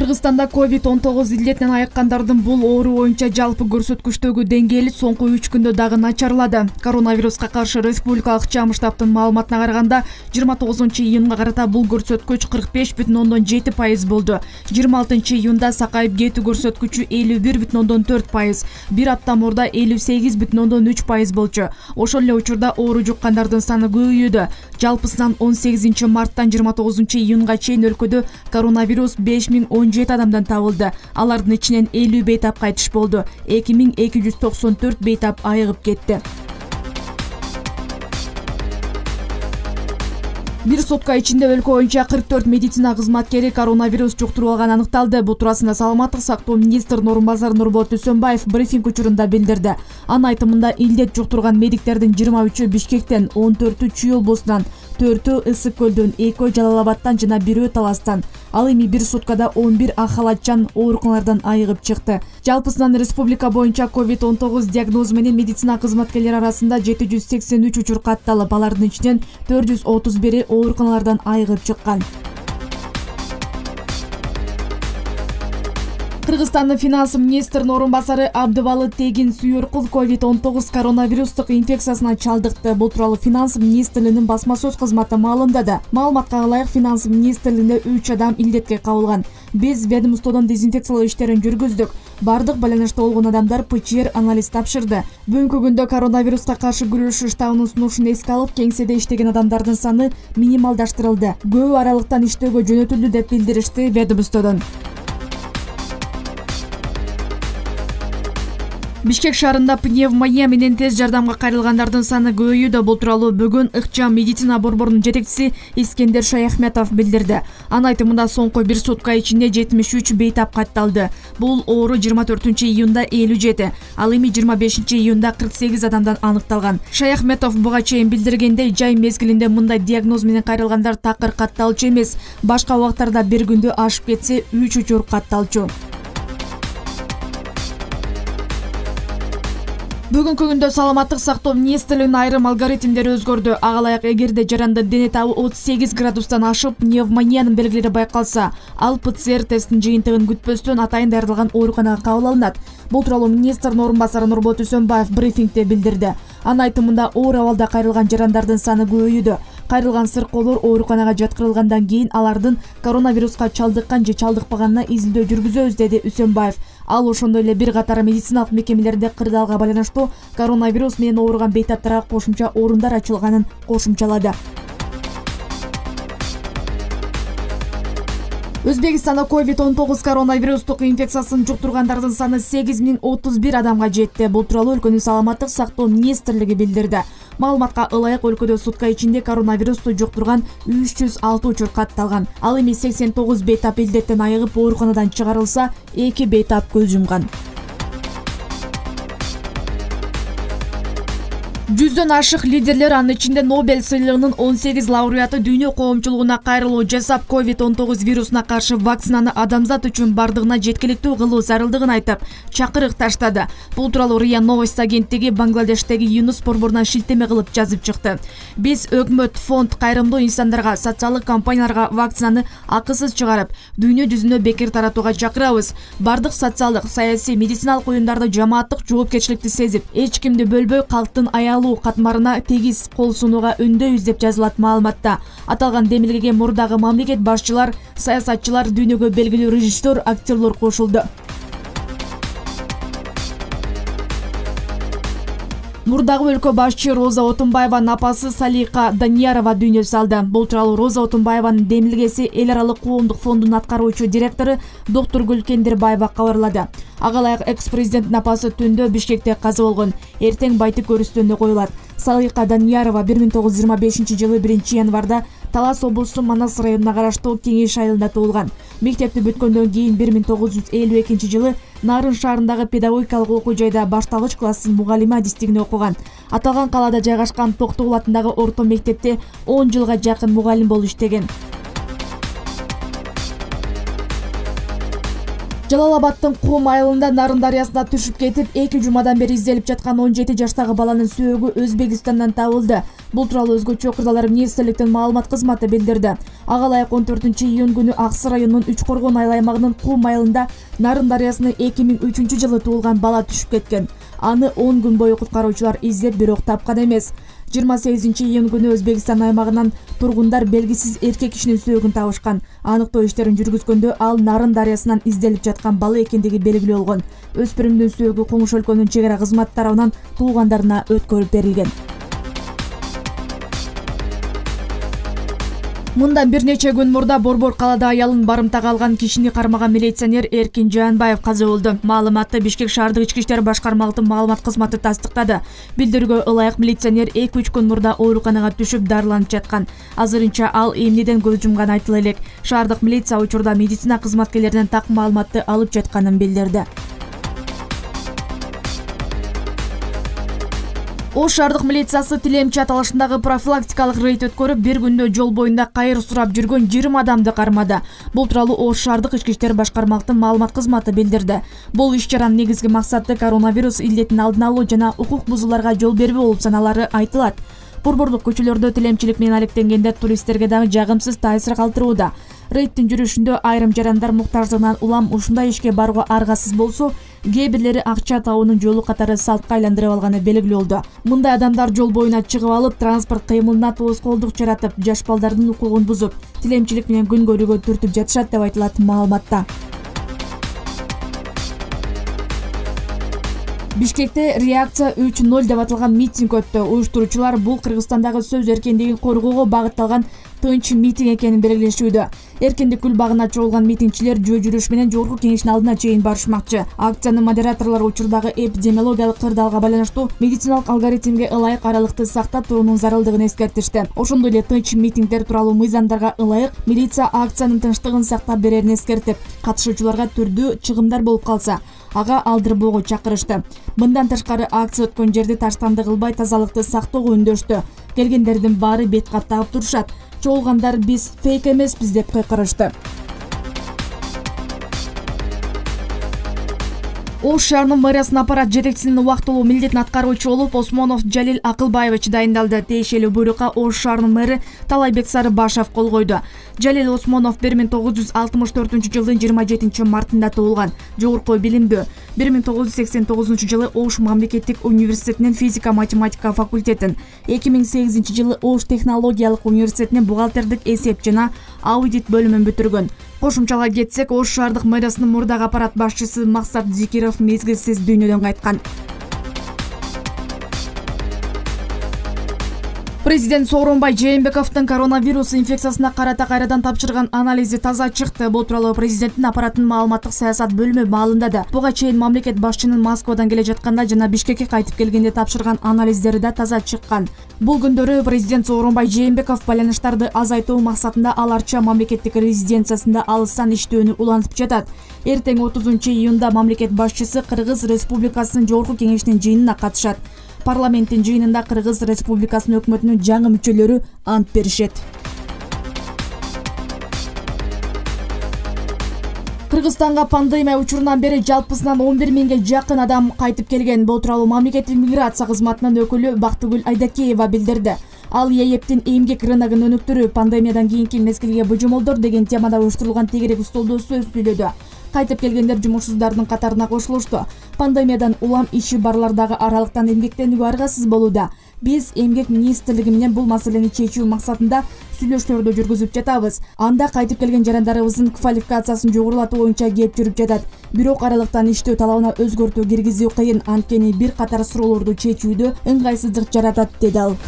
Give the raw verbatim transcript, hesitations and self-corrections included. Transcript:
Кыргызстанда ковид он тогуз илдетинен айыккандардын бул оору боюнча жалпы көрсөткүчтөгү деңгээли соңку үч күндө дагы начарлады. Коронавируска каршы республикалык чам штабтын маалыматына караганда жыйырма тогузунчу июнга карата бул көрсөткүч кырк беш бүтүн ондон жети пайыз болду. жыйырма алтынчы июнда сакайып кетүү көрсөткүчү элүү бир бүтүн ондон төрт пайыз, бир апта мурда элүү сегиз бүтүн ондон үч пайыз болчу. Ошол эле учурда оору жуккандардын саны көбөйүүдө. Жалпысынан он сегизинчи марттан жыйырма тогузунчу июнга чейин өлкөдө коронавирус беш миң он жети адамдан табылды. Алардын ичинен элүү бейтап кайтыш болду. эки миң эки жүз токсон төрт бейтап айыгып кетти. Бир сутка ичинде өлкө боюнча кырк төрт медицина кызматкери коронавирус жуктуруп алганы аныкталды. Бул туурасында саламаттык сактоо министринин орун басары Нурболот Үсөнбаев брифинг учурунда билдирди. Анын айтымында илдет жуктурган медиктердин жыйырма үчү Бишкектен, он төртү Чүй облусунан, төртү Ысык көлдөн, экөө Жалал Абадтан жана бирөө Таластан. Ал эми бир суткада он бир ак халатчан ооруканалардан айыгып чыкты. Жалпысынан республика боюнча ковид он тогуз диагнозу менен медицина кызматкерлери арасында жети жүз сексен үч учур катталып, алардын ичинен төрт жүз отуз бири ооруканалардан айыгып чыккан. Кыргызстандын финанс министринин орун басары Абдыбалы Тегин Сүйөркул ковид он тогуз коронавирустук инфекциясына чалдыкты. Бул тууралуу финанс министрлигинин басма сөз кызматы маалымдады. Маалыматка ылайык финанс министрлигинде үч адам илдетке кабылган. Биз ведомстводон дезинфекциялоо иштерин жүргүздүк. Бардык байланышта болгон адамдар ПЧР анализ тапшырды. Бүгүнкү күндө коронавируска каршы күрөшүү штабынын сунушун эске алып, кеңседе иштеген адамдардын саны минималдаштырылды. Көп аралыктан иштөөгө жөнөтүлдү деп билдиришти ведомстводон. Бишкек шаарында пневмония менен тез жардамга кайрылгандардын саны көбөйүүдө. Бул тууралуу бүгүн ыкчам медицина борборунун жетекчиси Искендер Шаяхметов билдирди. Анын айтымында соңку бир сутка ичинде жетимиш үч бейтап катталды. Бул оору жыйырма төртүнчү июнда элүү жети, ал эми жыйырма бешинчи июнда кырк сегиз адамдан аныкталган. Шаяхметов буга чейин билдиргендей, жай мезгилинде мындай диагноз менен кайрылгандар такыр катталчу эмес. Башка убактарда бир күндө ашып кетсе үч учур катталчу. Бүгүнкү күндө саламаттык сактоо министрлигинин айрым алгоритмдери өзгөрдү. Ага ылайык, эгерде жаранды дене табы отуз сегиз градустан ашып, пневмониянын белгилери байкалса, ал ПЦР тесттин жыйынтыгын күтпөстөн атайын даярдалган ооруканага кабыл алынат. Бул тууралуу министрдин орун басары Нурболот Үсөнбаев брифингде билдирди. Анын айтымында оор абалда кайрылган жарандардын саны көбөйүүдө. Кайрылган сыркоолор ооруканага жаткырылгандан кийин алардын коронавируска чалдыккан же чалдыкпаганына изилдөө жүргүзөбүз, деди Үсөнбаев. Ал ошондой эле бир катар медициналык мекемелерде кырдаалга байланыштуу коронавирус менен ооруган бейтаптарга кошумча орундар ачылганын кошумчалады. Өзбекстанда ковид он тогуз коронавирустук инфекциясын жуктургандардын саны сегиз миң отуз бир адамга жетти. Бул тууралуу өлкөнүн саламаттык сактоо министрлиги билдирди. Маалыматка ылайык, өлкөдө сутка ичинде коронавирусту жуктурган үч жүз алты учур катталган. Ал эми сексен тогуз бейтап илдеттен айыгып ооруканадан чыгарылса, эки бейтап көз жумган. Жүздөн ашык лидерлер, анын ичинде Нобель сыйлыгынын он сегиз лауреаты дүйнө коомчулугуна кайрылуу жасап, ковид он тогуз вирусуна каршы вакцинаны адамзат үчүн бардыгына жеткиликтүү кылуу зарылдыгын айтып, чакырык таштады. Бул тууралуу РИА Новости агенттиги Бангладештеги ЮНУС борборуна шилтеме кылып жазып чыкты. Биз өкмөт, фонд, кайрымдуу инсандарга, социалдык компанияларга вакцинаны акысыз чыгарып, дүйнө жүзүнө бекер таратууга чакырабыз. Бардык социалдык, саясий, медициналык уюмдарды жамааттык жоопкерчиликти сезип, эч кимди бөлбөй калктын аялуу катмарына тегиз кол сунууга үндөйбүз деп жазылат маалыматта. Аталган демилгеге мурдагы мамлекет башчылар, саясатчылар, дүйнөгө белгилүү режиссер, актерлор кошулду. Мурдагы өлкө башчы Роза Отунбаеванын апасы Салика Даниярова дүйнө салды. Бул тууралуу Роза Отунбаеванын демилгеси эл аралык коомдук фондунун аткаруучу директору доктор Гүлкендирбаева кабарлады. Ага ылайык, экс-президенттин апасы түндө Бишкекте каза болгон. Эртең байтык өрүстөнү коюлат. Салика Даниярова бир миң тогуз жүз жыйырма бешинчи жылы биринчи январда Талас облусу Манас районуна караштуу Кеңеш айылында туулган. Мектепти бүткөндөн кийин бир миң тогуз жүз элүү экинчи жылы Нарын шаарындагы педагогикалык окуу жайда башталгыч класстын мугалими адистигин окуган. Аталган калаада жайгашкан Токтогул атындагы орто мектепте он жылга жакын мугалим болуп иштеген. Жалал Абадтын Кум айылында Нарын дарыясына түшүп кетип, эки жумадан бери изделип жаткан он жети жаштагы баланын сөөгү Өзбекстандан табылды. Бул тууралуу өзгөчө кырдалар министрликтин маалымат кызматы билдирди. Ага ылайык он төртүнчү июнь күнү Аксы районунун Үч Коргон айыл аймагынын Кум айылында Нарын дарыясына эки миң үчүнчү жылы туулган бала түшүп кеткен. Аны он күн бою куткаруучулар издеп, бирок тапкан эмес. жыйырма сегизинчи июнь күнү Өзбекстан аймагынан тургундар белгисиз эркек кишинин сөөгүн табышкан. Аныктоо иштерин жүргүзгөндө ал Нарын дарыясынан изделип жаткан бала экендиги белгилүү болгон. Өспүрүмдүн сөөгү Коңуш өлкөнүн чек ара кызматы тарабынан туугандарына өткөрүп берилген. Мындан бир нече күн мурда Борбор калаада аялын барымтага алган кишини кармаган милиционер Эркин Жанбаев каза болду. Маалыматты Бишкек шаардык ички иштер башкармалыктын маалымат кызматы тастыктады. Билдирүүгө ылайык милиционер эки үч күн мурда ооруканага түшүп дарыланып жаткан. Азырынча ал эмнеден көз жумган айтыла элек. Шаардык милиция учурда медицина кызматкерлеринен так маалыматты алып жатканын билдирди. Ош шаардык милициясы Тилемчи аталышындагы профилактикалык рейд өткөрүп, бир күндө жол боюнда кайыр сурап жүргөн жыйырма адамды кармады. Бул тууралуу Ош шаардык ички иштер башкармалыктын маалымат кызматы билдирди. Бул иш-чаранын негизги максаты коронавирус илдетин алдын алуу жана укук бузууларга жол бербөө болуп саналары айтылат. Борборлук көчөлөрдө тилемчилик менен алектенгендер туристтерге дагы жагымсыз таасир калтырууда. Рейдтин жүрүшүндө айрым жарандар муктаждыгынан улам ушундай ишке барууга аргасыз болсо, кээ бирлери акча табуунун жолу катары салтка айландырып алганы белгилүү болду. Мындай адамдар жол боюна чыгып алып, транспорт кыймылына тоскоолдук жаратып, жаш балдардын укугун бузуп, тилемчилик менен күн көрүүгө түртүп жатышат деп айтылат маалыматта. Бишкекте реакция үч ноль деп аталган митинг өттү. Уюштуруучулар бул Кыргызстандагы сөз эркиндигин коргоого багытталган тынч митинг экенин белгилешүүдө. Эркиндик гүл багына чогулган митингчилер жөө жүрүш менен жогорку кеңештин алдына чейин барышмакчы. Акциянын модераторлору учурдагы эпидемиологиялык кырдаалга байланыштуу медициналык алгоритмге ылайык аралыкты сактап туруунун зарылдыгын эскертишти. Ошондой эле тынч митингдер тууралуу мыйзамдарга ылайык милиция акциянын тынчтыгын сактап берерин эскертип, катышуучуларга түрдүү чыгымдар болуп калса, ага алдырбоого чакырышты. Мындан тышкары акция өткөн жерди таштанды кылбай тазалыкты сактоого үндөштү. Келгендердин баары бет каттап турушат. Чогулгандар биз фейк эмеспиз деп кыйкырышты. Ош шаарынын мэриясынын аппарат жетекчисинин убактылуу милдетин аткаруучу болуп Осмонов Жалил Акылбаевич дайындалды. Тиешелүү буйрукка Ош шаарынын мэри Талайбек Сарыбашев кол койду. Жалил Осмонов бир миң тогуз жүз алтымыш төртүнчү жылдын жыйырма жетинчи мартында туулган. Жогорку билимдүү. бир миң тогуз жүз сексен тогузунчу жылы Ош мамлекеттик университетинин физика-математика факультетин, эки миң сегизинчи жылы Ош технологиялык университетинин бухгалтердик эсеп жана аудит бөлүмүн бүтүргөн. Кошумчалай кетсек, Ош шаардык мэриясынын мурдагы аппарат башчысы Максат Зикиров мезгилсиз дүйнөдөн кайткан. Президент Сооронбай Жээнбековдун коронавирус инфекциясына карата кайрадан тапшырган анализи таза чыкты. Бул тууралуу президенттин аппараттын маалыматтык саясат бөлүмү маалымдады. Буга чейин мамлекет башчынын Москвадан келе жатканда жана Бишкекке кайтып келгенде тапшырган анализдери да таза чыккан. Бул күндөрү президент Сооронбай Жээнбеков байланыштарды азайтуу максатында ал Арча мамлекеттик резиденциясында алыстан иштөөнү улантып жатат. Эртең отузунчу июнда мамлекет башчысы Кыргыз Республикасынын жогорку кеңешинин жыйынына катышат. Парламенттин жыйынында Кыргыз Республикасынын өкмөтүнүн жаңы мүчөлөрү ант беришет. Кыргызстанга пандемия учурунан бери жалпысынан он бир миңге жакын адам кайтып келген. Бул тууралуу мамлекеттик миграция кызматынын өкүлү Бактыгүл Айдакеева билдирди. Ал ЕЭПтин эмгек рыногун өнүктүрүү, пандемиядан кийинки мезгилге божомолдор деген темада уюштурулган тегерек столдо сөз сүйлөдү. Кайтып келгендер жумушсуздардын катарына кошулушту. Пандемиядан улам иши барлардагы аралыктан эмгектенүүгө аргасыз болууда. Биз эмгек министрлиги менен бул маселени чечүү максатында сүйлөшүүлөрдү жүргүзүп жатабыз. Анда кайтып келген жарандарыбыздын квалификациясын жогорулатуу боюнча кеп жүрүп жатат. Бирок аралыктан иштөө талабына өзгөртүү киргизүү кыйын, анткени бир катар суроолорду чечүүдө ыңгайсыздык жаратат, деди ал.